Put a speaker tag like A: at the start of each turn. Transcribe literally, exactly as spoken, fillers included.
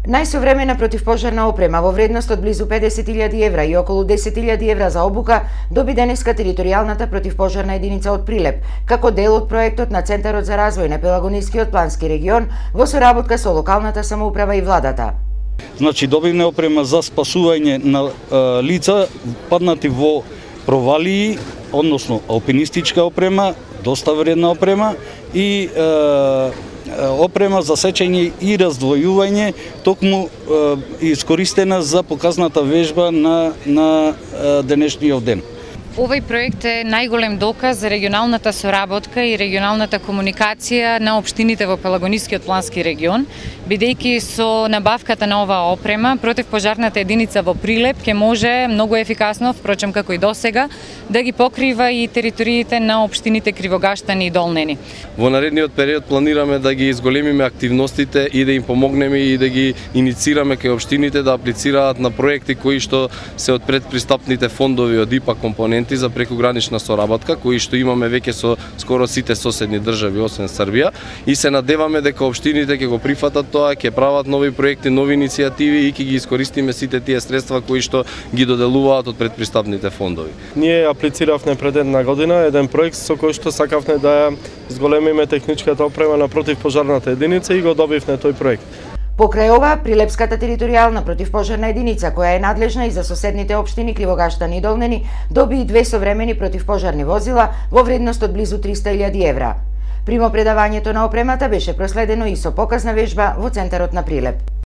A: Најсовремена противпожарна опрема во вредност од близу педесет илјади евра и околу десет илјади евра за обука доби денеска територијалната противпожарна единица од Прилеп, како дел од проектот на Центарот за развој на Пелагонискиот плански регион во соработка со локалната самоуправа и владата.
B: Значи добивме опрема за спасување на е, лица паднати во провалии, односно алпинистичка опрема, доста вредна опрема и е, опрема за сечење и раздвојување, токму е, искористена за показната вежба на, на е, денешниот ден.
C: Овој проект е најголем доказ за регионалната соработка и регионалната комуникација на општините во Пелагонискиот плански регион, бидејќи со набавката на оваа опрема, противпожарната единица во Прилеп ќе може многу ефикасно, впрочем како и досега, да ги покрива и териториите на општините Кривогаштани и Долнени.
D: Во наредниот период планираме да ги изголемиме активностите и да им помогнеме и да ги иницираме кај општините да аплицираат на проекти кои што се од предпристапните фондови од ИПА компоненти за прекугранична соработка, кои што имаме веќе со скоро сите соседни држави освен Србија, и се надеваме дека општините ќе го прифатат тоа, ќе прават нови проекти, нови иницијативи и ќе ги искористиме сите тие средства кои што ги доделуваат од предпристапните фондови.
E: Ние аплициравме пред една година еден проект со кој што сакавме да зголемиме техничката опрема на противпожарната единица и го добивме тој проект.
A: Покрај ова, Прилепската територијална противпожарна единица, која е надлежна и за соседните општини Кривогаштани и Долнени, доби и две современи противпожарни возила во вредност од близу триста илјади евра. Примопредавањето на опремата беше проследено и со показна вежба во центарот на Прилеп.